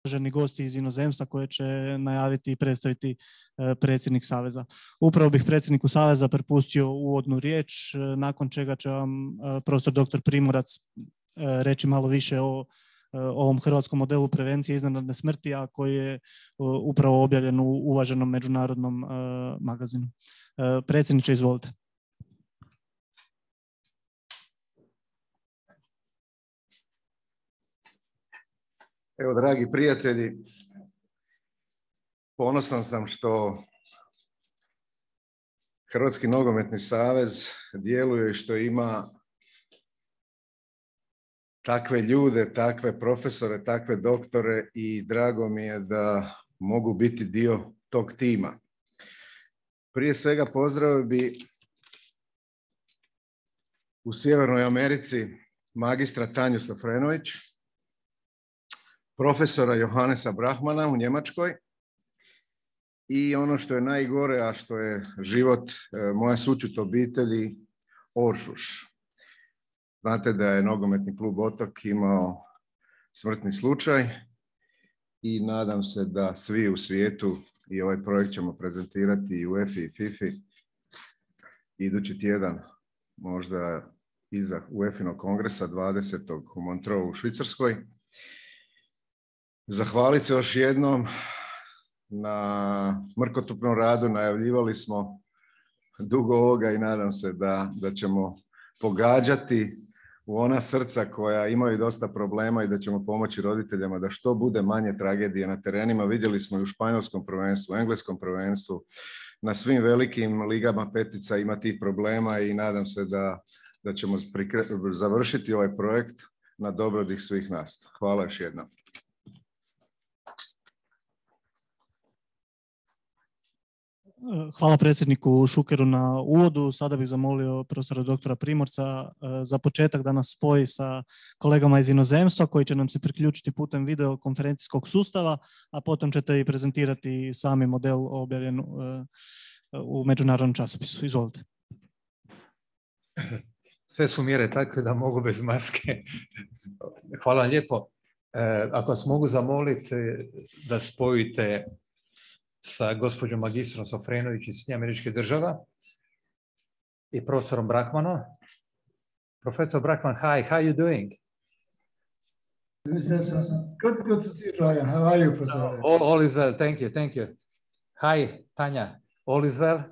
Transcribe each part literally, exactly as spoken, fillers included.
uvaženi gosti iz inozemstva koje će najaviti i predstaviti predsjednik Saveza. Upravo bih predsjedniku Saveza prepustio uvodnu riječ, nakon čega će vam profesor doktor Primorac reći malo više o ovom hrvatskom modelu prevencije iznenadne smrti, a koji je upravo objavljen u uvaženom međunarodnom magazinu. Predsjedniče, izvolite. Evo, dragi prijatelji, ponosan sam što Hrvatski nogometni savez djeluje i što ima takve ljude, takve profesore, takve doktore i drago mi je da mogu biti dio tog tima. Prije svega pozdravio bi u Sjevernoj Americi magistra Tanju Sofrenović, profesora Johannesa Brahmana u Njemačkoj i ono što je najgore, a što je život moja sućut obitelji, Oršuš. Znate da je nogometni klub Otok imao smrtni slučaj i nadam se da svi u svijetu, i ovaj projekt ćemo prezentirati i u UEFA i FIFA idući tjedan, možda iza UEFA-inog kongresa dvadesetog u Montreux u Švicarskoj. Zahvaliti se još jednom na mrkotupnom radu, najavljivali smo dugo ovoga i nadam se da, da ćemo pogađati u ona srca koja imaju dosta problema i da ćemo pomoći roditeljima da što bude manje tragedije na terenima. Vidjeli smo i u španjolskom prvenstvu, engleskom prvenstvu, na svim velikim ligama petica ima tih problema i nadam se da, da ćemo završiti ovaj projekt na dobrobit svih nas. Hvala još jednom. Hvala predsjedniku Šukeru na uvodu. Sada bih zamolio profesora doktora Primorca za početak da nas spoji sa kolegama iz inozemstva koji će nam se priključiti putem videokonferencijskog sustava, a potom ćete i prezentirati sami model objavljen u međunarodnom časopisu. Izvolite. Sve su mjere takve da mogu bez maske. Hvala lijepo. Ako vas mogu zamoliti da spojite sa gospođom magistrom Sofrenović iz Sjedinjenih Američkih Država i profesorom Brahmanom. Professor Brahman, hi, how are you doing? Good, good to see you, Dragan. How are you, Professor? All, all is well, thank you, thank you. Hi, Tanya, all is well?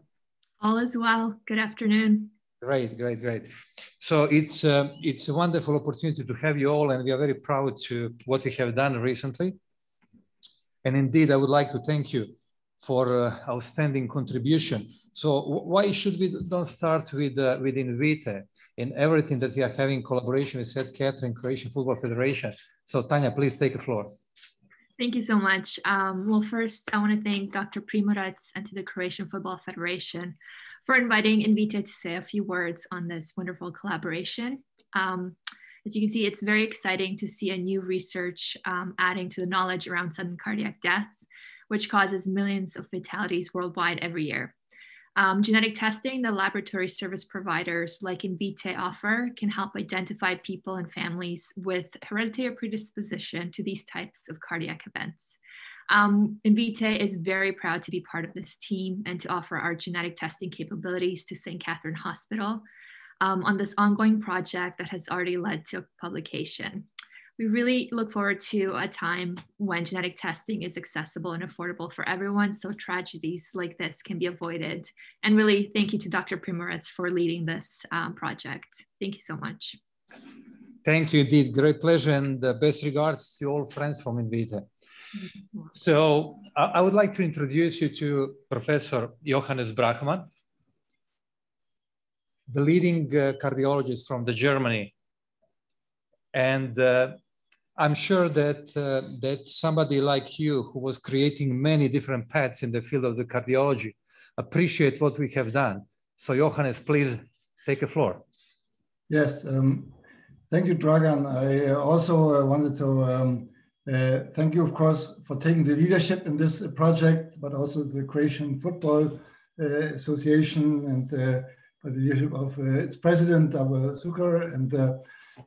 All is well, good afternoon. Great, great, great. So it's, uh, it's a wonderful opportunity to have you all, and we are very proud to what we have done recently. And indeed, I would like to thank you for uh, outstanding contribution. So why should we don't start with, uh, with Invite in everything that we are having collaboration with Saint Catherine Croatian Football Federation? So Tanya, please take the floor. Thank you so much. Um, well, first, I want to thank Doctor Primorac and to the Croatian Football Federation for inviting Invite to say a few words on this wonderful collaboration. Um, as you can see, it's very exciting to see a new research um, adding to the knowledge around sudden cardiac death, which causes millions of fatalities worldwide every year. Um, genetic testing, the laboratory service providers like Invite offer, can help identify people and families with hereditary predisposition to these types of cardiac events. Um, Invite is very proud to be part of this team and to offer our genetic testing capabilities to Saint Catherine Hospital um, on this ongoing project that has already led to publication. We really look forward to a time when genetic testing is accessible and affordable for everyone, so tragedies like this can be avoided. And really, thank you to Doctor Primorac for leading this um, project. Thank you so much. Thank you, indeed. Great pleasure, and uh, best regards to all friends from Invite. So I, I would like to introduce you to Professor Johannes Brahman, the leading uh, cardiologist from the Germany. And uh, I'm sure that, uh, that somebody like you, who was creating many different paths in the field of the cardiology, appreciate what we have done. So Johannes, please take the floor. Yes, um, thank you, Dragan. I also uh, wanted to um, uh, thank you, of course, for taking the leadership in this project, but also the Croatian Football uh, Association and uh, by the leadership of uh, its president, Davor Šuker, and uh,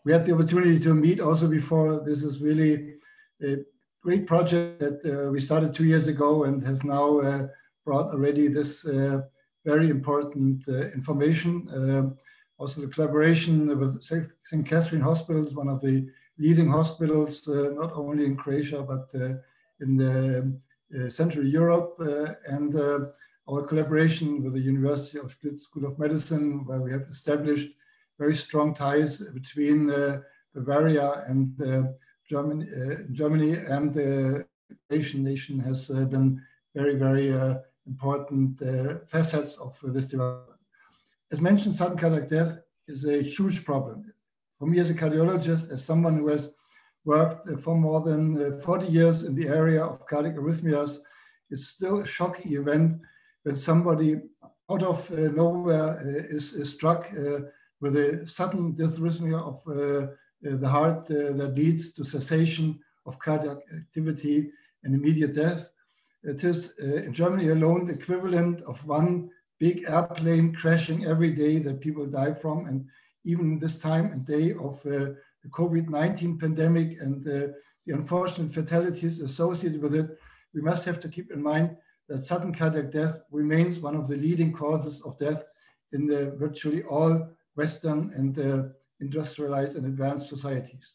we had the opportunity to meet also before. This is really uh, great project that uh, we started two years ago and has now uh, brought already this uh, very important uh, information. Uh, also the collaboration with Saint Catherine Hospitals, one of the leading hospitals, uh, not only in Croatia, but uh, in the, uh, Central Europe, uh, and uh, our collaboration with the University of Split School of Medicine, where we have established very strong ties between uh, Bavaria and uh, Germany, uh, Germany and the Croatian nation has uh, been very, very uh, important uh, facets of uh, this development. As mentioned, sudden cardiac death is a huge problem. For me as a cardiologist, as someone who has worked uh, for more than uh, forty years in the area of cardiac arrhythmias, it's still a shocking event when somebody out of uh, nowhere uh, is, is struck uh, with a sudden dysrhythmia of uh, uh, the heart uh, that leads to cessation of cardiac activity and immediate death. It is uh, in Germany alone the equivalent of one big airplane crashing every day that people die from. And even this time and day of uh, the COVID nineteen pandemic and uh, the unfortunate fatalities associated with it, we must have to keep in mind that sudden cardiac death remains one of the leading causes of death in the virtually all Western and uh, industrialized and advanced societies.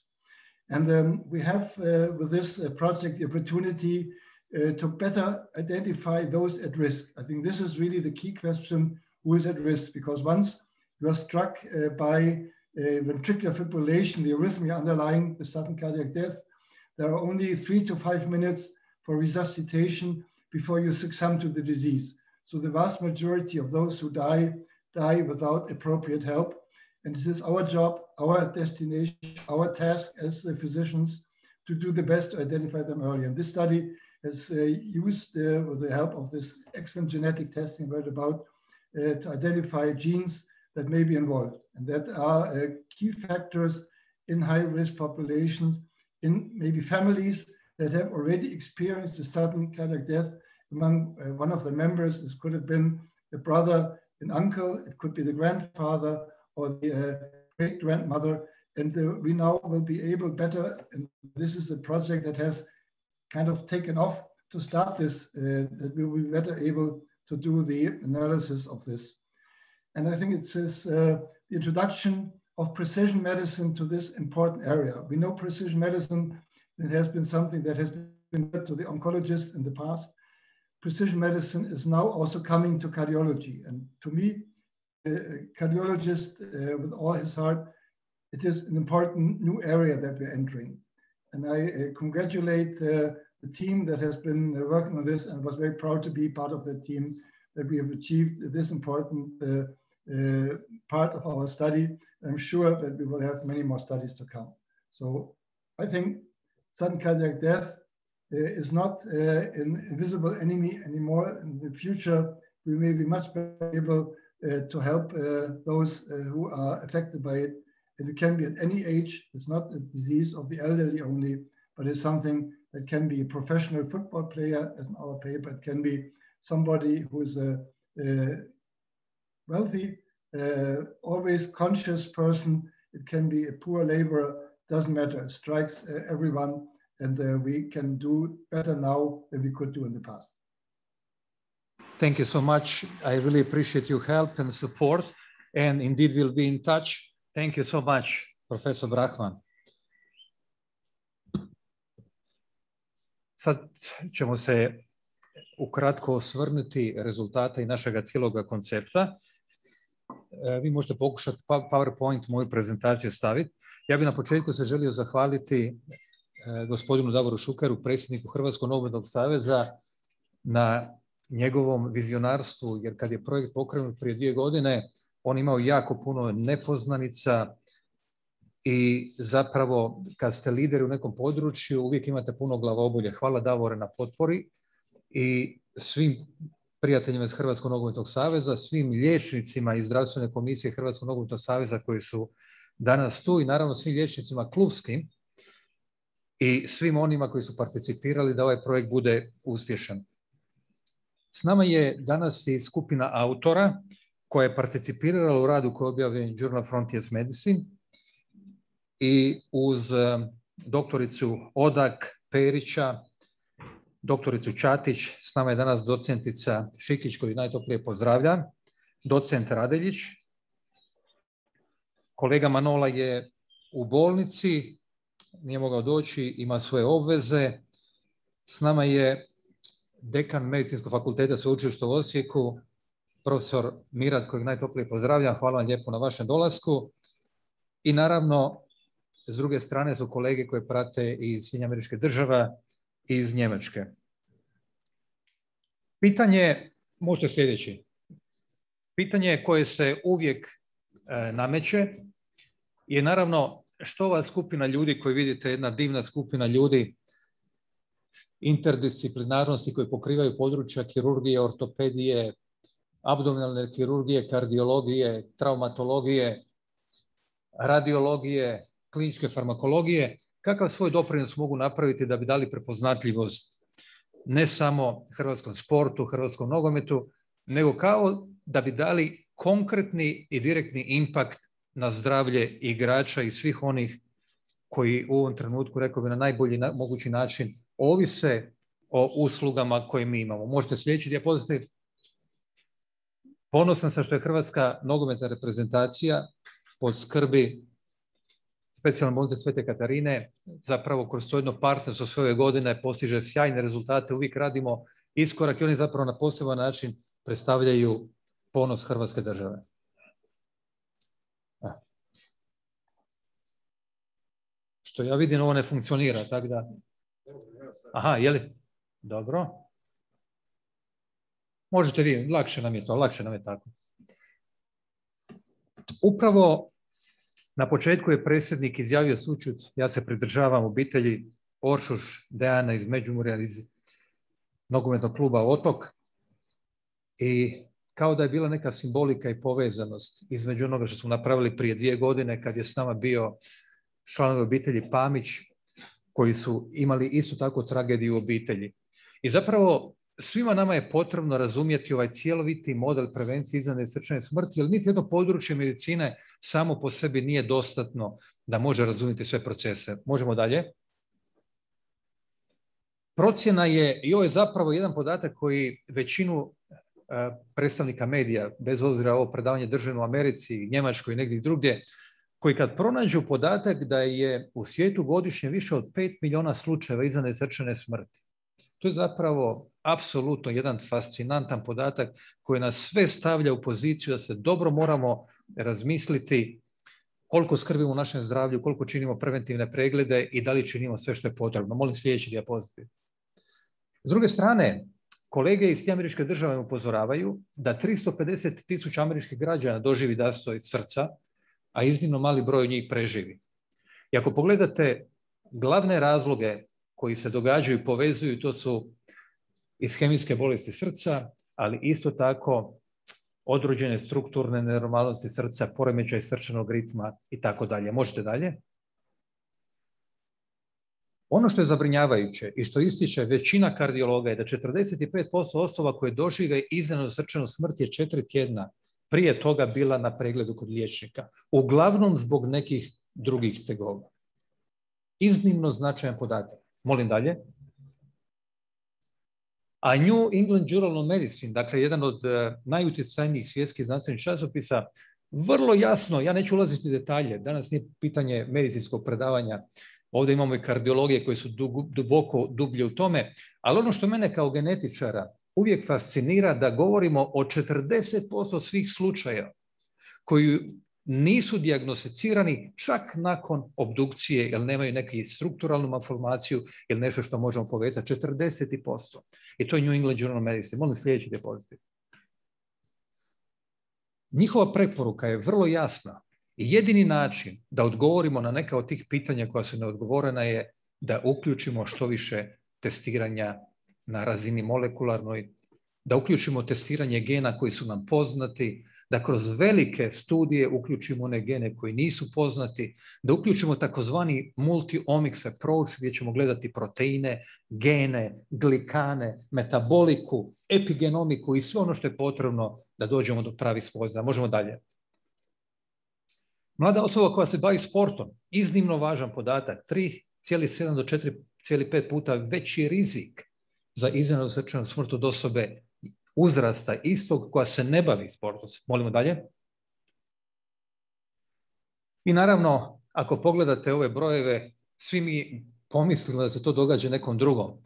And um, we have uh, with this uh, project the opportunity uh, to better identify those at risk. I think this is really the key question, who is at risk, because once you are struck uh, by uh, ventricular fibrillation, the arrhythmia underlying the sudden cardiac death, there are only three to five minutes for resuscitation before you succumb to the disease. So the vast majority of those who die, die without appropriate help. And it is our job, our destination, our task as uh, physicians to do the best to identify them early. And this study has uh, used, uh, with the help of this excellent genetic testing I read about, uh, to identify genes that may be involved and that are uh, key factors in high-risk populations, in maybe families that have already experienced a sudden cardiac death among uh, one of the members. This could have been the brother, an uncle, it could be the grandfather or the uh, great-grandmother. And uh, we now will be able better, and this is a project that has kind of taken off to start this, uh, that we will be better able to do the analysis of this. And I think it's this, uh, the introduction of precision medicine to this important area. We know precision medicine, it has been something that has been to the oncologists in the past. Precision medicine is now also coming to cardiology. And to me, a cardiologist uh, with all his heart, it is an important new area that we're entering. And I uh, congratulate uh, the team that has been uh, working on this, and was very proud to be part of that team, that we have achieved this important uh, uh, part of our study. I'm sure that we will have many more studies to come. So I think sudden cardiac death uh, is not uh, an invisible enemy anymore. In the future, we may be much better able uh, to help uh, those uh, who are affected by it. And it can be at any age. It's not a disease of the elderly only, but it's something that can be a professional football player, as in our paper. It can be somebody who is a, a wealthy, uh, always conscious person. It can be a poor laborer. Doesn't matter. It strikes uh, everyone, and uh, we can do better now than we could do in the past. Thank you so much. I really appreciate your help and support, and indeed we'll be in touch. Thank you so much, Professor Brachman. Sad ćemo se ukratko osvrnuti rezultate i našega cijeloga koncepta. Vi možete pokušati PowerPoint, moju prezentaciju staviti. Ja bih na početku se želio zahvaliti gospodinu Davoru Šukeru, predsjedniku Hrvatskog nogometnog saveza, na njegovom vizionarstvu, jer kad je projekt pokrenut prije dvije godine, on imao jako puno nepoznanica i zapravo kad ste lideri u nekom području uvijek imate puno glavobolje. Hvala Davore na potpori i svim prijateljima iz Hrvatskog nogometnog saveza, svim liječnicima iz zdravstvene komisije Hrvatskog nogometnog saveza koji su danas tu i naravno svim liječnicima klubskim i svim onima koji su participirali da ovaj projekt bude uspješan. S nama je danas i skupina autora koja je participirala u radu koji je objavljen Journal Frontiers Medicine i uz doktoricu Odak Perića, doktoricu Čatić, s nama je danas docentica Šikić koju najtoplije pozdravljam, docent Radeljić. Kolega Manola je u bolnici, nije mogao doći, ima svoje obveze. S nama je dekan Medicinskog fakulteta Sveučilišta u Osijeku, profesor Mirat, kojeg najtoplije pozdravljam. Hvala vam lijepo na vašem dolasku. I naravno, s druge strane su kolege koje prate iz Sjedinjenih Američkih Država i iz Njemačke. Pitanje, možete sljedeći. Pitanje koje se uvijek e, nameće je naravno što ova skupina ljudi koju vidite, jedna divna skupina ljudi interdisciplinarnosti koji pokrivaju područja kirurgije, ortopedije, abdominalne kirurgije, kardiologije, traumatologije, radiologije, kliničke farmakologije, kakav svoj doprinos mogu napraviti da bi dali prepoznatljivost ne samo hrvatskom sportu, hrvatskom nogometu, nego kao da bi dali konkretni i direktni impakt na zdravlje igrača i svih onih koji u ovom trenutku, rekao bi, na najbolji na, mogući način ovise o uslugama koje mi imamo. Možete sljedeći dijapozitiv. Ponosan sam što je hrvatska nogometna reprezentacija pod skrbi Specijalne bolnice Svete Katarine zapravo kroz to jedno partnerstvo sve ove godine postiže sjajne rezultate. Uvijek radimo iskorak i oni zapravo na poseban način predstavljaju ponos Hrvatske države. Što ja vidim, ovo ne funkcionira, tako da... Aha, je li? Dobro. Možete vi, lakše nam je to, lakše nam je tako. Upravo na početku je predsjednik izjavio sućut, ja se pridržavam obitelji Oršuš Dejana iz Međimurja, iz nogometnog kluba Otok, i kao da je bila neka simbolika i povezanost između onoga što smo napravili prije dvije godine kad je s nama bio članovi obitelji Pamić, koji su imali isto tako tragediju u obitelji. I zapravo svima nama je potrebno razumjeti ovaj cjeloviti model prevencije iznenadne srčane smrti, jer niti jedno područje medicine samo po sebi nije dostatno da može razumjeti sve procese. Možemo dalje. Procjena je, i ovo je zapravo jedan podatak koji većinu e, predstavnika medija, bez obzira ovo predavanje držano u Americi, Njemačkoj i negdje drugdje, koji kad pronađu podatak da je u svijetu godišnje više od pet milijuna slučajeva iznenadne srčane smrti. To je zapravo apsolutno jedan fascinantan podatak koji nas sve stavlja u poziciju da se dobro moramo razmisliti koliko skrbimo u našem zdravlju, koliko činimo preventivne preglede i da li činimo sve što je potrebno. Molim sljedeći dijapozitiv. S druge strane, kolege iz Sjedinjenih Američkih Država upozoravaju da tristo pedeset tisuća američkih građana doživi zastoj srca, a iznimno mali broj njih preživi. I ako pogledate glavne razloge koji se događaju i povezuju, to su ishemijske bolesti srca, ali isto tako određene strukturne nenormalnosti srca, poremećaj srčanog ritma i tako dalje. Možete dalje? Ono što je zabrinjavajuće i što ističe većina kardiologa je da četrdeset pet posto osoba koje dožive iznenadnu srčanu smrt je četiri tjedna prije toga bila na pregledu kod liječnika. Uglavnom zbog nekih drugih tegoba. Iznimno značajan podatak. Molim dalje. A New England Journal of Medicine, dakle jedan od uh, najutjecajnijih svjetskih znanstvenih časopisa, vrlo jasno, ja neću ulaziti u detalje, danas nije pitanje medicinskog predavanja, ovdje imamo i kardiologije koje su duboko dublje u tome, ali ono što mene kao genetičara uvijek fascinira da govorimo o četrdeset posto svih slučajeva koji nisu dijagnosticirani čak nakon obdukcije, jer nemaju neku strukturalnu malformaciju ili nešto što možemo povezati. četrdeset posto. I to je New England Journal of Medicine. Molim sljedeći dijapozitiv. Njihova preporuka je vrlo jasna i jedini način da odgovorimo na neka od tih pitanja koja su neodgovorena je da uključimo što više testiranja na razini molekularnoj, da uključimo testiranje gena koji su nam poznati, da kroz velike studije uključimo one gene koji nisu poznati, da uključimo takozvani multi-omics approach gdje ćemo gledati proteine, gene, glikane, metaboliku, epigenomiku i sve ono što je potrebno da dođemo do pravih spoznaja. Možemo dalje. Mlada osoba koja se bavi sportom, iznimno važan podatak, tri zarez sedam do četiri cijeli pet puta veći rizik za iznenadnu srčanu smrt od osobe uzrasta istog koja se ne bavi sportom. Molimo dalje. I naravno, ako pogledate ove brojeve, svi mi pomislimo da se to događa nekom drugom.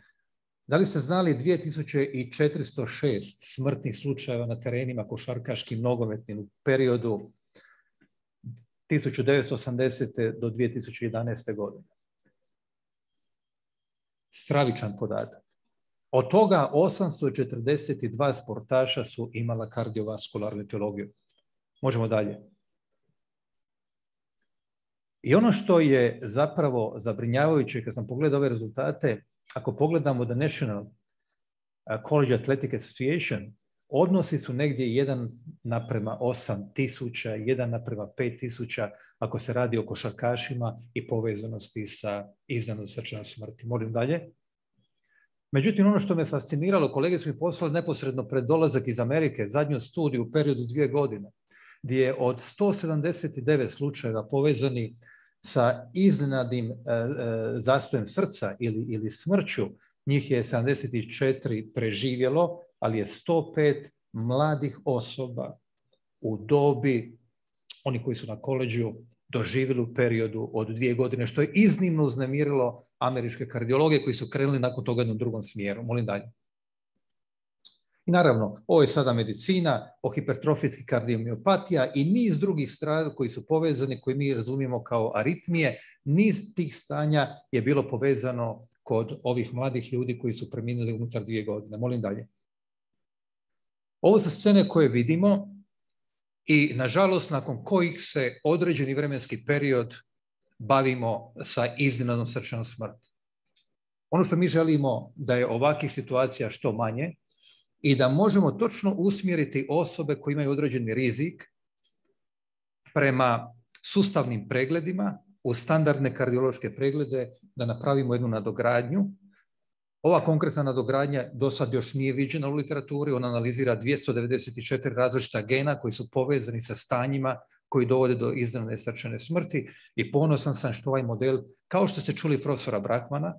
Da li ste znali dvije tisuće četiristo šest smrtnih slučajeva na terenima košarkaškim, nogometnim u periodu tisuću devetsto osamdesete do dvije tisuće jedanaeste. godine? Stravičan podatak. Od toga osamsto četrdeset dva sportaša su imala kardiovaskularnu etiologiju. Možemo dalje. I ono što je zapravo zabrinjavajuće, kad sam pogledao ove rezultate, ako pogledamo The National College Athletic Association, odnosi su negdje jedan naprema osam tisuća, jedan naprema pet tisuća, ako se radi o košarkašima i povezanosti sa iznenadnom srčanom smrti. Molim dalje. Međutim, ono što me fasciniralo, kolege su mi poslali neposredno pred dolazak iz Amerike, zadnju studiju u periodu dvije godine, gdje je od sto sedamdeset devet slučajeva povezani sa iznenadnim e, e, zastojem srca ili, ili smrću, njih je sedamdeset četiri preživjelo, ali je sto pet mladih osoba u dobi, oni koji su na koleđu, doživjeli u periodu od dvije godine, što je iznimno uznemirilo američke kardiologe koji su krenuli nakon toga jednom drugom smjeru. Molim dalje. I naravno, ovo je sada medicina, o hipertrofijski kardiomiopatija i niz drugih stvari koji su povezani, koji mi razumijemo kao aritmije. Niz tih stanja je bilo povezano kod ovih mladih ljudi koji su preminuli unutar dvije godine. Molim dalje. Ovo su scene koje vidimo i, nažalost, nakon kojih se određeni vremenski period bavimo sa iznenadnom srčanom smrti. Ono što mi želimo da je ovakvih situacija što manje i da možemo točno usmjeriti osobe koje imaju određeni rizik prema sustavnim pregledima, u standardne kardiološke preglede, da napravimo jednu nadogradnju. Ova konkretna nadogradnja do sad još nije viđena u literaturi, ona analizira dvjesto devedeset četiri različita gena koji su povezani sa stanjima koji dovode do iznenadne srčane smrti i ponosan sam što ovaj model, kao što ste čuli profesora Brakmana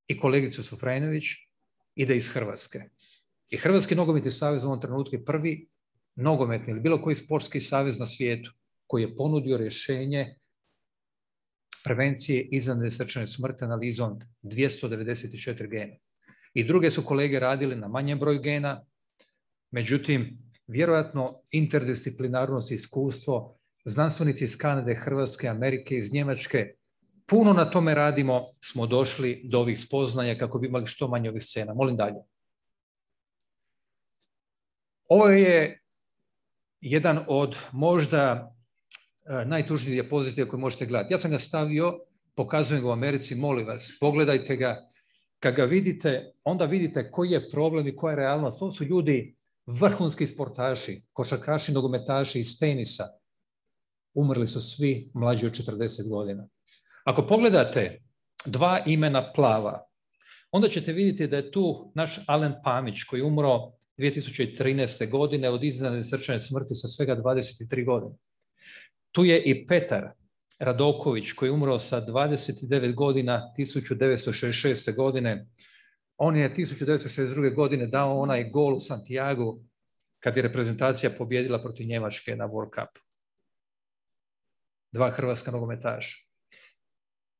i kolegicu Sufrajnović, ide iz Hrvatske. I Hrvatski nogometni savez u ovom trenutku je prvi nogometni ili bilo koji sportski savez na svijetu koji je ponudio rješenje prevencije iznenadne srčane smrti analizom dvjesto devedeset četiri gena. I druge su kolege radili na manjem broju gena, međutim, vjerojatno interdisciplinarnost i iskustvo, znanstvenici iz Kanade, Hrvatske, Amerike, iz Njemačke, puno na tome radimo, smo došli do ovih spoznaja kako bi imali što manje ovih scena. Molim dalje. Ovo je jedan od možda najtužnijih dijapozitiva koje možete gledati. Ja sam ga stavio, pokazujem ga u Americi, molim vas, pogledajte ga. Kad ga vidite, onda vidite koji je problem i koja je realnost. Ovo su ljudi, vrhunski sportaši, košarkaši, nogometaši iz tenisa. Umrli su svi mlađi od četrdeset godina. Ako pogledate dva imena plava, onda ćete vidjeti da je tu naš Alen Pamić koji je umro dvije tisuće trinaeste. godine od iznenadne srčane smrti sa svega dvadeset tri godine. Tu je i Petar Radoković koji je umro sa dvadeset devet godina tisuću devetsto šezdeset šeste. godine. On je tisuću devetsto šezdeset druge. godine dao onaj gol u Santiago kad je reprezentacija pobjedila protiv Njemačke na World Cupu. Dva hrvatska nogometaša.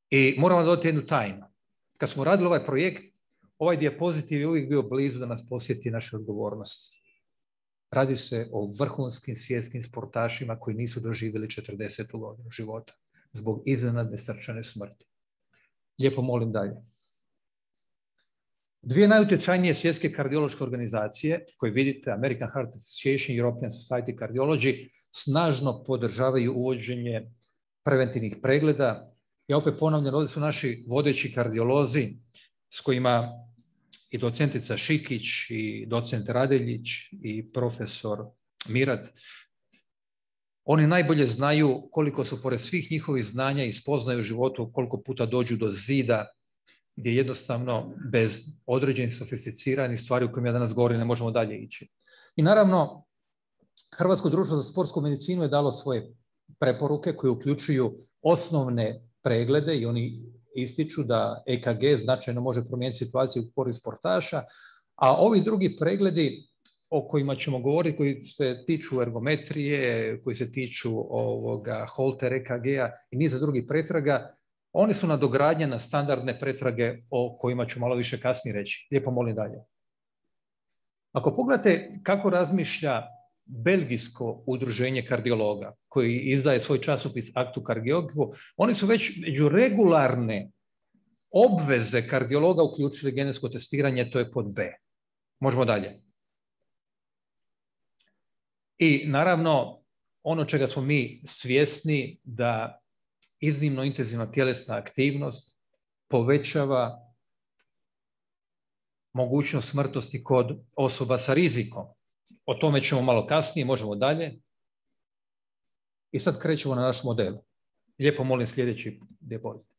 I moramo dodati jednu tajnu. Kad smo radili ovaj projekt, ovaj dijapozitiv je uvijek bio blizu da nas posjeti naše odgovornosti. Radi se o vrhunskim svjetskim sportašima koji nisu doživjeli četrdesetu godinu života zbog iznenadne srčane smrti. Lijepo molim dalje. Dvije najutjecajnije svjetske kardiološke organizacije koje vidite, American Heart Association i European Society Cardiology, snažno podržavaju uvođenje preventivnih pregleda. Ja opet ponavljam, ovdje su naši vodeći kardiolozi s kojima i docentica Šikić, i docent Radeljić, i profesor Mirat. Oni najbolje znaju koliko su, pored svih njihovih znanja i spoznaju u životu, koliko puta dođu do zida, gdje jednostavno bez određenih sofisticiranih stvari u kojima ja danas govorim ne možemo dalje ići. I naravno, Hrvatsko društvo za sportsku medicinu je dalo svoje preporuke koje uključuju osnovne preglede i oni ističu da E K G značajno može promijeniti situaciju u korist sportaša, a ovi drugi pregledi o kojima ćemo govoriti, koji se tiču ergometrije, koji se tiču ovoga Holter E K G-a i niza drugih pretraga, oni su nadogradnje na standardne pretrage o kojima ću malo više kasnije reći. Lijepo molim dalje. Ako pogledate kako razmišlja belgijsko udruženje kardiologa, koji izdaje svoj časopis Actu Cardiologu, oni su već među regularne obveze kardiologa uključili genetsko testiranje, to je pod B. Možemo dalje. I naravno, ono čega smo mi svjesni, da iznimno intenzivna tjelesna aktivnost povećava mogućnost smrtnosti kod osoba sa rizikom. O tome ćemo malo kasnije, možemo dalje. I sad krećemo na naš model. Lijepo molim sljedeći dijapozitiv.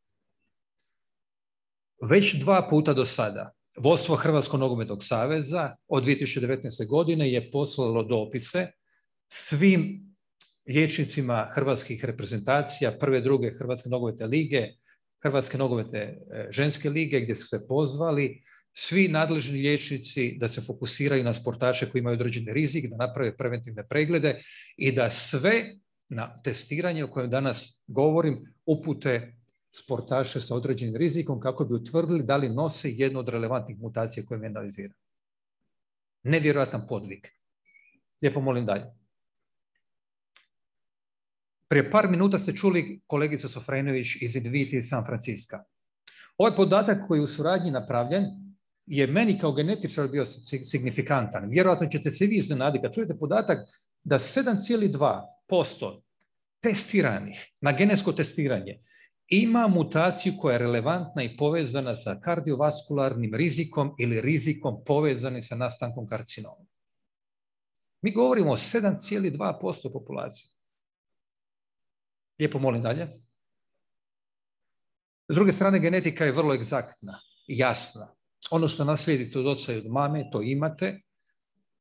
Već dva puta do sada vodstvo Hrvatskog nogometnog saveza od dvije tisuće devetnaeste. godine je poslalo dopise svim liječnicima hrvatskih reprezentacija, prve, druge Hrvatske nogometne lige, Hrvatske nogometne ženske lige, gdje su se pozvali svi nadležni liječnici da se fokusiraju na sportače koji imaju određeni rizik, da naprave preventivne preglede i da sve na testiranje o kojem danas govorim upute sportaše sa određenim rizikom kako bi utvrdili da li nose jednu od relevantnih mutacija koje mi analizira. Nevjerojatan podvig. Lijepo molim dalje. Prije par minuta ste čuli kolegicu Sofrenović iz Invite iz San Francisca. Ovaj podatak koji je u suradnji napravljen je meni kao genetičar bio signifikantan. Vjerojatno ćete se vi iznenaditi kad čujete podatak da sedam zarez dva posto testiranih na genetsko testiranje ima mutaciju koja je relevantna i povezana sa kardiovaskularnim rizikom ili rizikom povezanim sa nastankom karcinoma. Mi govorimo o sedam zarez dva posto populacije. Lijepo molim dalje. S druge strane, genetika je vrlo egzaktna, jasna. Ono što naslijedite od oca i od mame, to imate.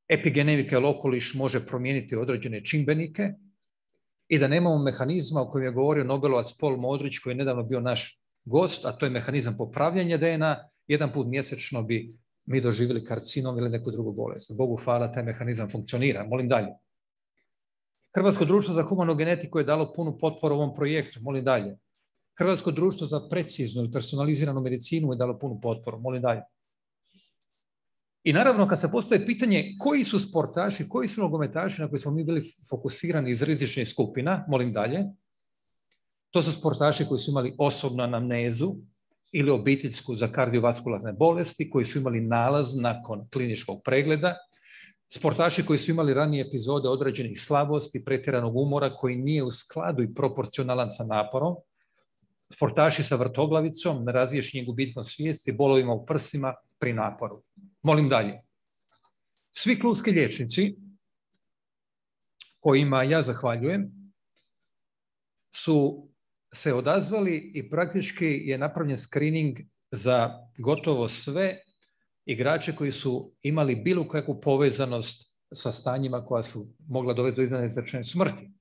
Epigenetika ili okoliš može promijeniti određene čimbenike i da nemamo mehanizma o kojem je govorio Nobelovac Paul Modrić, koji je nedavno bio naš gost, a to je mehanizam popravljanja D N A. Jedan put mjesečno bi mi doživjeli karcinom ili neku drugu bolest. Bogu hvala, taj mehanizam funkcionira. Molim dalje. Hrvatsko društvo za humanu genetiku je dalo punu potporu ovom projektu. Molim dalje. Hrvatsko društvo za preciznu i personaliziranu medicinu je dalo punu potporu. Molim dalje. I naravno, kad se postaje pitanje koji su sportaši, koji su nogometaši na koji smo mi bili fokusirani iz rizičnih skupina, molim dalje, to su sportaši koji su imali osobnu anamnezu ili obiteljsku za kardiovaskularne bolesti, koji su imali nalaz nakon kliničkog pregleda, sportaši koji su imali ranije epizode određenih slabosti, pretjeranog umora koji nije u skladu i proporcionalan sa naporom, sportaši sa vrtoglavicom, nerazriješenim gubitkom svijesti, bolovima u prsima pri naporu. Molim dalje. Svi klubski liječnici kojima ja zahvaljujem su se odazvali i praktički je napravljen screening za gotovo sve igrače koji su imali bilo kakvu povezanost sa stanjima koja su mogla dovesti do iznenadne zračne smrti.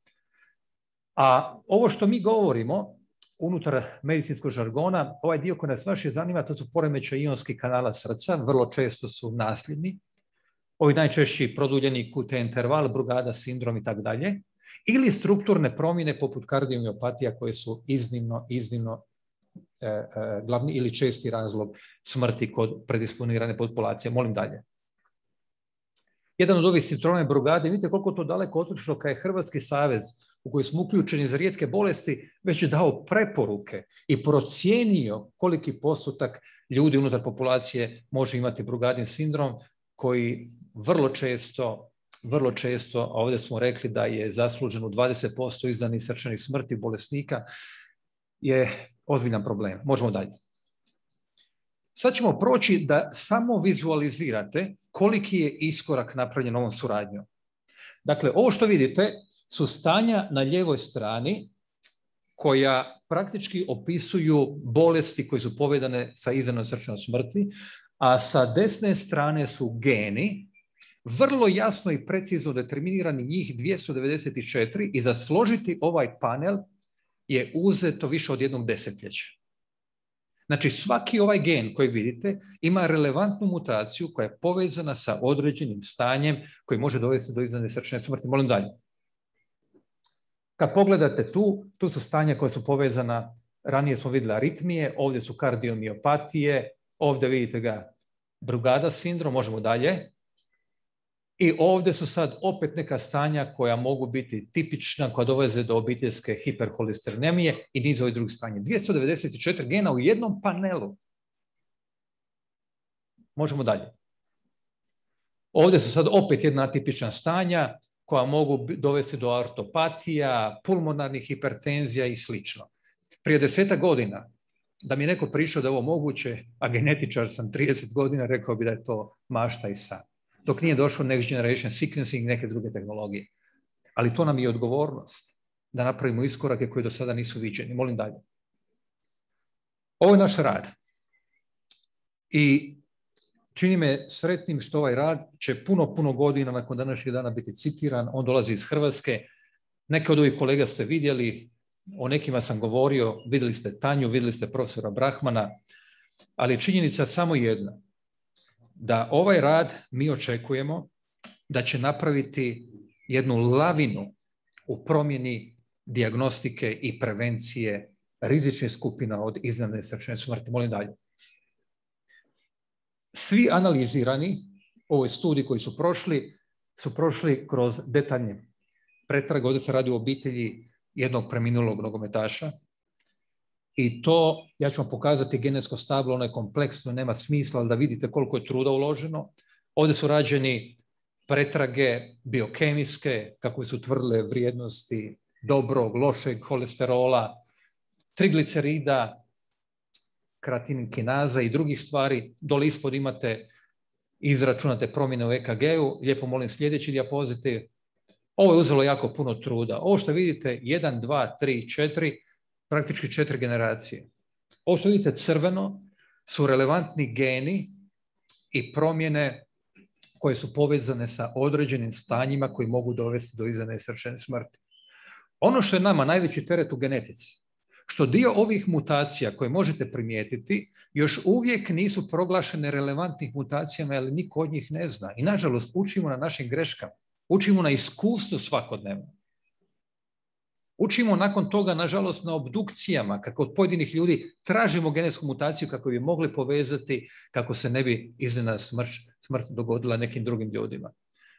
A ovo što mi govorimo unutar medicinskog žargona, ovaj dio koji nas vaše zanima, to su poremećaji ionskih kanala srca, vrlo često su nasljedni, ovi najčešći produljeni Q T interval, Brugada sindrom i tako dalje, ili strukturne promjene poput kardiomiopatija koje su iznimno, iznimno e, e, glavni ili česti razlog smrti kod predisponirane populacije. Molim dalje. Jedan od ovih sindroma Brugade, vidite koliko to daleko otišlo kad je Hrvatski savez u koji smo uključeni za rijetke bolesti već je dao preporuke i procijenio koliki postotak ljudi unutar populacije može imati Brugadin sindrom koji vrlo često, vrlo često, a ovdje smo rekli da je zaslužen u dvadeset posto izdanih srčanih smrti bolesnika, je ozbiljan problem. Možemo dalje. Sad ćemo proći da samo vizualizirate koliki je iskorak napravljen ovom suradnjom. Dakle, ovo što vidite su stanja na lijevoj strani koja praktički opisuju bolesti koje su povezane sa izdanom srčanom smrti, a sa desne strane su geni, vrlo jasno i precizno determinirani, njih dvjesto devedeset četiri, i za složiti ovaj panel je uzeto više od jednog desetljeća. Znači svaki ovaj gen koji vidite ima relevantnu mutaciju koja je povezana sa određenim stanjem koji može dovesti do iznenadne srčane smrti. Molim dalje. Kad pogledate tu, tu su stanja koja su povezana, ranije smo vidjeli aritmije, ovdje su kardiomiopatije, ovdje vidite ga Brugada sindrom, možemo dalje. I ovdje su sad opet neka stanja koja mogu biti tipična, koja doveze do obiteljske hiperholesteronemije i niz ovih drugih stanja. dvjesto devedeset četiri gena u jednom panelu. Možemo dalje. Ovdje su sad opet jedna atipična stanja koja mogu dovesti do artopatija, pulmonarnih hipertenzija i slično. Prije desetak godina, da mi je neko prišao da je ovo moguće, a genetičar sam trideset godina, rekao bi da je to mašta i san. Dok nije došlo next generation sequencing i neke druge tehnologije. Ali to nam je odgovornost da napravimo iskorake koji do sada nisu viđeni. Molim dalje. Ovo je naš rad. I čini me sretnim što ovaj rad će puno, puno godina nakon današnjeg dana biti citiran. On dolazi iz Hrvatske. Neke od ovih kolega ste vidjeli, o nekima sam govorio, vidjeli ste Tanju, vidjeli ste profesora Brahmana, ali činjenica samo jedna, da ovaj rad mi očekujemo da će napraviti jednu lavinu u promjeni dijagnostike i prevencije rizičnih skupina od iznenadne srčane smrti. Molim dalje. Svi analizirani u ovoj studiji koji su prošli, su prošli kroz detaljne pretrage. Ovdje se radi o obitelji jednog preminulog nogometaša. I to, ja ću vam pokazati genetsko stablo, ono je kompleksno, nema smisla, ali da vidite koliko je truda uloženo. Ovdje su rađeni pretrage biokemijske, kako su utvrdile vrijednosti dobrog, lošeg holesterola, triglicerida, kreatinkinaza i drugih stvari. Dole ispod imate izračunate promjene u E K G-u. Lijepo molim sljedeći dijapozitiv. Ovo je uzelo jako puno truda. Ovo što vidite, jedan, dva, tri, četiri, praktički četiri generacije. Ovo što vidite crveno su relevantni geni i promjene koje su povezane sa određenim stanjima koji mogu dovesti do iznenadne srčane smrti. Ono što je nama najveći teret u genetici, što dio ovih mutacija koje možete primijetiti još uvijek nisu proglašene relevantnih mutacijama, ali niko od njih ne zna. I nažalost učimo na našim greškama, učimo na iskustvu svakodnevno. Učimo nakon toga, nažalost, na obdukcijama, kako od pojedinih ljudi tražimo genetsku mutaciju kako bi mogli povezati, kako se ne bi iznenadna smrt, smrt dogodila nekim drugim ljudima.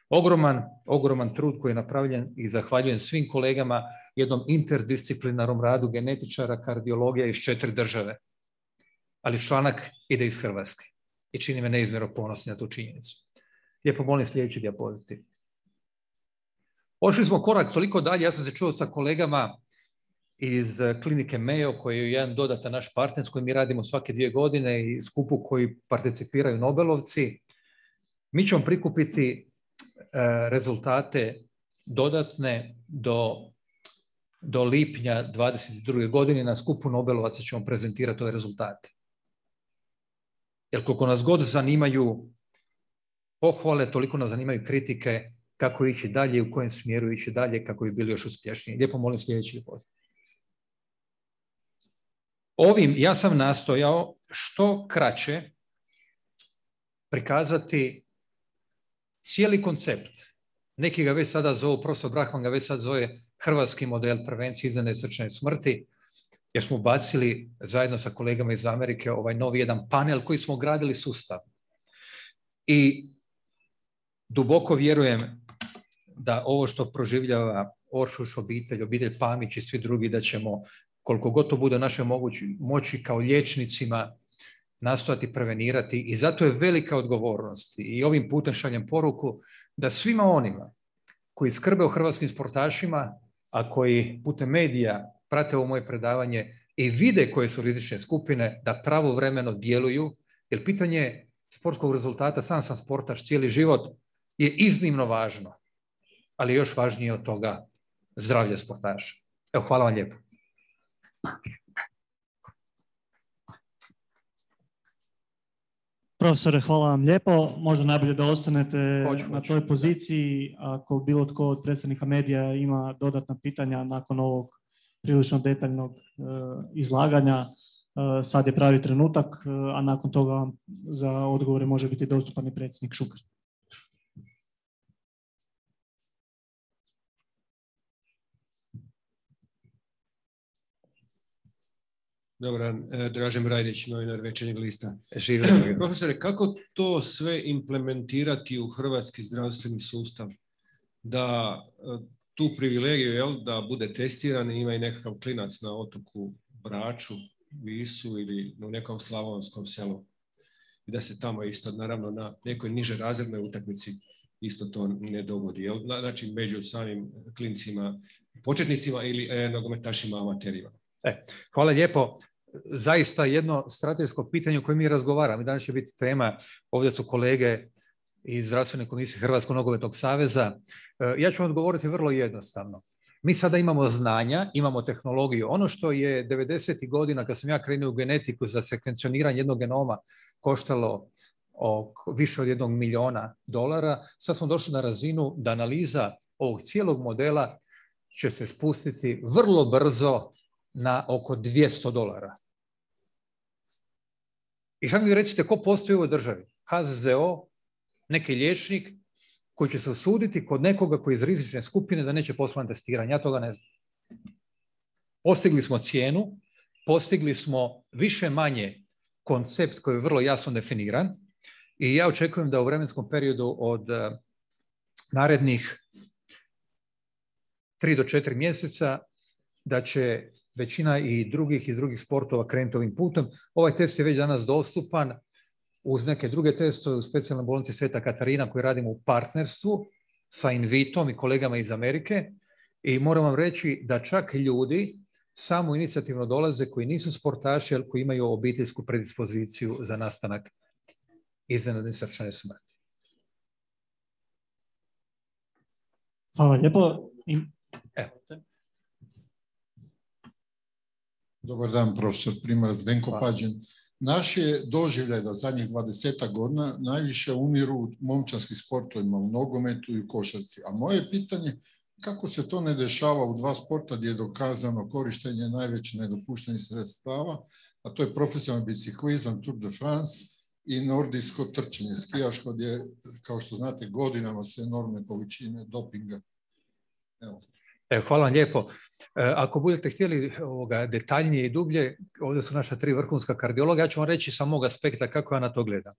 Ogroman, ogroman trud koji je napravljen i zahvaljujem svim kolegama jednom interdisciplinarnom radu genetičara, kardiologija iz četiri države. Ali članak ide iz Hrvatske i čini me neizmjerno ponosni na tu činjenicu. Lijepo molim sljedeći dijapozitiv. Ošli smo korak toliko dalje, ja sam se čuo sa kolegama iz klinike Mayo, koji je jedan dodatan naš partner s kojim mi radimo svake dvije godine i skupu koji participiraju Nobelovci. Mi ćemo prikupiti rezultate dodatne do, do lipnja dvadeset druge godine. Na skupu Nobelovaca ćemo prezentirati ove rezultate. Jer koliko nas god zanimaju pohvale, toliko nas zanimaju kritike kako ići dalje i u kojem smjeru ići dalje kako bi bili još uspješniji. Lijepo molim sljedeći poziv. Ovim ja sam nastojao što kraće prikazati cijeli koncept. Neki ga već sada zovu, profesor Brahman ga već sad zove hrvatski model prevencije iznenadne srčane smrti, jer smo bacili zajedno sa kolegama iz Amerike ovaj novi jedan panel koji smo gradili sustav. I duboko vjerujem da ovo što proživljava Oršuš obitelj, obitelj Pamić i svi drugi, da ćemo koliko god to bude naše mogući, moći kao liječnicima nastojati prevenirati i zato je velika odgovornost i ovim putem šaljem poruku da svima onima koji skrbe o hrvatskim sportašima, a koji putem medija prate ovo moje predavanje i vide koje su rizične skupine, da pravovremeno djeluju, jer pitanje sportskog rezultata, sam sam sportaš cijeli život, je iznimno važno, ali još važnije od toga zdravlje sportaša. Evo, hvala vam lijepo. Profesore, hvala vam lijepo. Možda najbolje da ostanete hoću, na hoću. toj poziciji. Ako bilo tko od predstavnika medija ima dodatna pitanja nakon ovog prilično detaljnog uh, izlaganja, sad je pravi trenutak, a nakon toga za odgovore može biti dostupan i predsjednik Šuker. Dobar dan, Dražen Brajdić, novinar Večernjeg lista. Živjeli. Profesore, kako to sve implementirati u hrvatski zdravstveni sustav? Da tu privilegiju, jel, da bude testiran i ima i nekakav klinac na otoku Braču, Visu ili u nekom slavonskom selu. I da se tamo isto, naravno, na nekoj niže razrednoj utakmici isto to ne dogodi. Jel? Znači, među samim klincima, početnicima ili e, nogometašima amaterima. E, hvala lijepo. Zaista jedno strateško pitanje o kojem mi razgovaramo. Danas će biti tema, ovdje su kolege iz Zdravstvene komisije Hrvatskog nogometnog saveza. Ja ću vam odgovoriti vrlo jednostavno. Mi sada imamo znanja, imamo tehnologiju. Ono što je devedesetih godina, kad sam ja krenuo u genetiku za sekvencioniranje jednog genoma, koštalo oko, više od jednog milijuna dolara, sad smo došli na razinu da analiza ovog cijelog modela će se spustiti vrlo brzo na oko dvjesto dolara. I sad mi recite, ko postoji u ovoj državi? H Z Z O, neki liječnik koji će se osuditi kod nekoga koji je iz rizične skupine da neće poslati testiranje. Ja toga ne znam. Postigli smo cijenu, postigli smo više manje koncept koji je vrlo jasno definiran i ja očekujem da u vremenskom periodu od uh, narednih tri do četiri mjeseca da će većina i drugih iz drugih sportova krenuti ovim putem. Ovaj test je već danas dostupan uz neke druge testove u specijalnoj bolnici Sveta Katarina koji radimo u partnerstvu sa Invitom i kolegama iz Amerike i moram vam reći da čak ljudi samo inicijativno dolaze koji nisu sportaši, ali koji imaju obiteljsku predispoziciju za nastanak iznenadne srčane smrti. Hvala lijepo. Evo. Dobar dan, profesor Primorac, Zdenko Pađen. Naš je doživljaj da zadnjih dvadesetak godina najviše umiru u momčarskim sportovima, u nogometu i u košarci. A moje pitanje, kako se to ne dešava u dva sporta gdje je dokazano korištenje najveće nedopuštenih sredstava, a to je profesionalni biciklizam, Tour de France i nordijsko trčanje, skijaško, gdje, kao što znate, godinama su enormne količine dopinga. Evo. Evo, hvala vam lijepo. Ako budete htjeli ovoga detaljnije i dublje, ovdje su naša tri vrhunska kardiologa, ja ću vam reći sa mog aspekta kako ja na to gledam.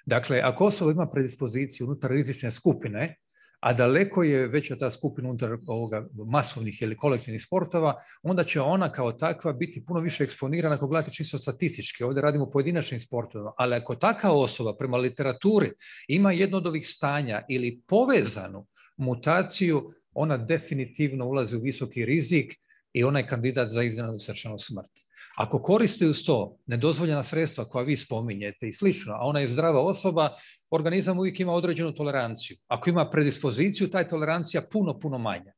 Dakle, ako osoba ima predispoziciju unutar rizične skupine, a daleko je veća ta skupina unutar ovoga masovnih ili kolektivnih sportova, onda će ona kao takva biti puno više eksponirana ako gledate čisto statistički. Ovdje radimo pojedinačnim sportovima, ali ako taka osoba prema literaturi ima jedno od ovih stanja ili povezanu mutaciju, ona definitivno ulazi u visoki rizik i ona je kandidat za iznenadnu srčanu smrt. Ako koriste uz to nedozvoljena sredstva koja vi spominjete i slično, a ona je zdrava osoba, organizam uvijek ima određenu toleranciju. Ako ima predispoziciju, ta je tolerancija puno, puno manja.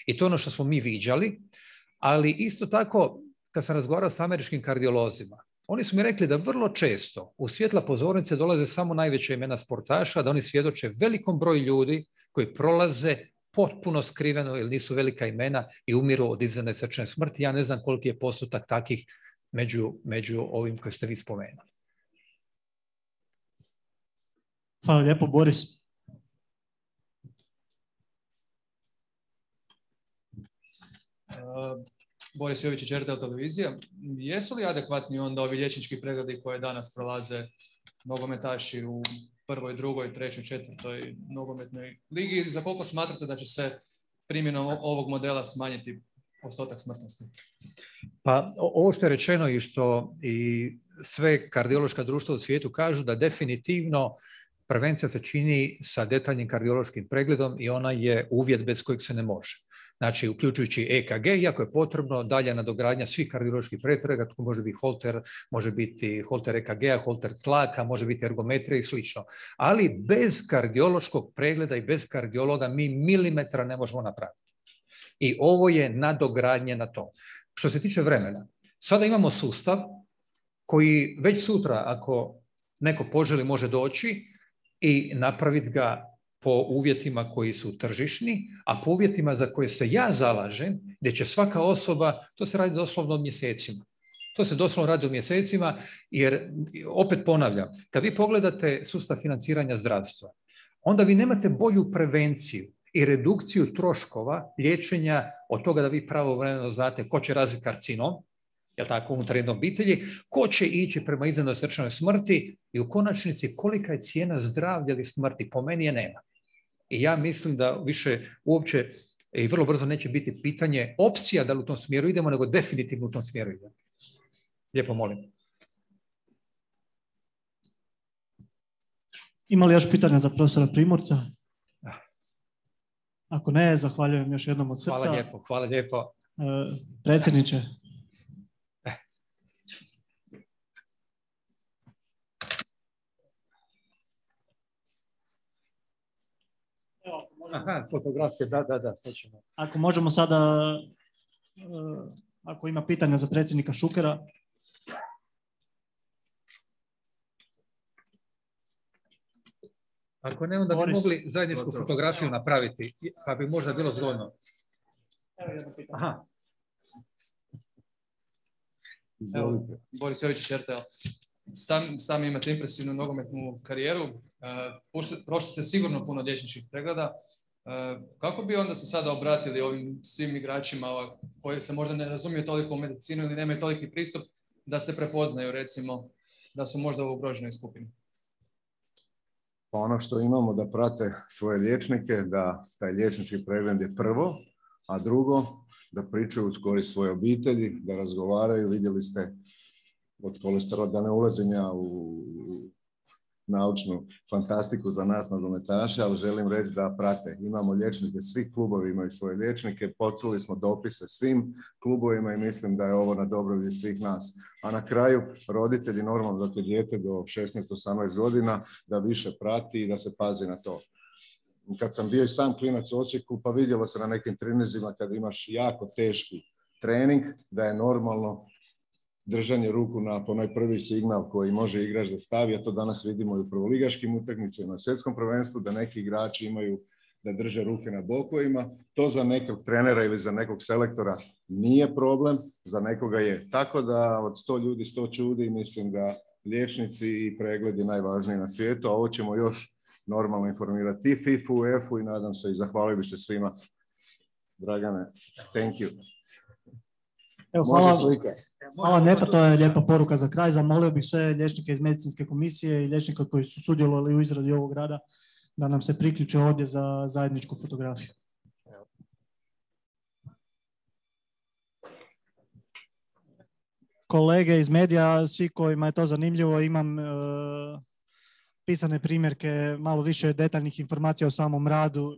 I to je ono što smo mi viđali, ali isto tako, kad sam razgovarao s američkim kardiolozima, oni su mi rekli da vrlo često u svjetla pozornice dolaze samo najveća imena sportaša, da oni svjedoče velikom broju ljudi koji prolaze potpuno skriveno ili nisu velika imena i umiru od iznenadne srčane smrti. Ja ne znam koliki je postotak takih među, među ovim koje ste vi spomenuli. Hvala lijepo, Boris. Uh, Boris Jovičić, R T L televizija. Jesu li adekvatni onda ovi liječnički pregledi koje danas prolaze nogometaši u prvoj, drugoj, trećoj, četvrtoj nogometnoj ligi? Za koliko smatrate da će se primjenom ovog modela smanjiti postotak smrtnosti? Pa ovo što je rečeno i što i sve kardiološka društva u svijetu kažu da definitivno prevencija se čini sa detaljnim kardiološkim pregledom i ona je uvjet bez kojeg se ne može. Znači, uključujući E K G, iako je potrebno dalja nadogradnja svih kardioloških pretraga, to može biti holter, može biti holter E K G-a, holter tlaka, može biti ergometrija i slično. Ali bez kardiološkog pregleda i bez kardiologa mi milimetra ne možemo napraviti. I ovo je nadogradnje na to. Što se tiče vremena, sada imamo sustav koji već sutra, ako neko poželi, može doći i napraviti ga po uvjetima koji su tržišni, a po uvjetima za koje se ja zalažem, gdje će svaka osoba, to se radi doslovno od mjesecima, To se doslovno radi u mjesecima, jer opet ponavljam, kad vi pogledate sustav financiranja zdravstva, onda vi nemate bolju prevenciju i redukciju troškova liječenja od toga da vi pravovremeno znate ko će razviti karcinom, jel tako, unutar jedne obitelji, ko će ići prema iznenadnoj srčanoj smrti i u konačnici kolika je cijena zdravlja ili smrti. Po meni je nema. I ja mislim da više uopće i vrlo brzo neće biti pitanje opcija da li u tom smjeru idemo, nego definitivno u tom smjeru idemo. Lijepo molim. Ima li još pitanja za profesora Primorca? Ako ne, zahvaljujem još jednom od srca. Hvala lijepo, hvala lijepo. E, predsjedniče. Aha, fotografije, da, da, da. Hoćemo. Ako možemo sada, uh, ako ima pitanja za predsjednika Šukera. Ako ne, onda bi mogli zajedničku fotografiju napraviti, pa bi možda bilo zgodno. Aha. Evo, Boris Jovičić, R T L. Sam, sam imate impresivnu nogometnu karijeru. Uh, prošli ste sigurno puno liječničkih pregleda. Uh, kako bi onda se sada obratili ovim svim igračima koji se možda ne razumiju toliko u medicinu ili nemaju toliki pristup da se prepoznaju, recimo, da su možda u ugroženoj skupini? Pa ono što imamo da prate svoje liječnike, da taj liječnički pregled je prvo, a drugo, da pričaju u korist svoje obitelji, da razgovaraju. Vidjeli ste od kolesterola, da ne ulazim ja u naučnu fantastiku za nas nogometaše, ali želim reći da prate. Imamo liječnike, svi klubovi imaju svoje liječnike, poslali smo dopise svim klubovima i mislim da je ovo na dobrobit svih nas. A na kraju, roditelji, normalno dok je dijete do šesnaest osamnaest godina, da više prati i da se pazi na to. Kad sam bio i sam klinac u Osijeku, pa vidjelo se na nekim trenizima kad imaš jako teški trening, da je normalno držanje ruku na onaj prvi signal koji može igrač da stavi, a to danas vidimo i u prvoligaškim utakmicama, na svjetskom prvenstvu, da neki igrači imaju da drže ruke na bokovima. To za nekog trenera ili za nekog selektora nije problem, za nekoga je. Tako da od sto ljudi, sto čudi, mislim da liječnici i pregledi najvažniji na svijetu, a ovo ćemo još normalno informirati i fifu, UEFA i nadam se i zahvalio bi se svima. Dragane, thank you. Evo, hvala, hvala lijepa, to je lijepa poruka za kraj. Zamolio bih sve liječnike iz medicinske komisije i liječnika koji su sudjelovali u izradi ovog rada da nam se priključe ovdje za zajedničku fotografiju. Kolege iz medija, svi kojima je to zanimljivo, imam e, pisane primjerke, malo više detaljnih informacija o samom radu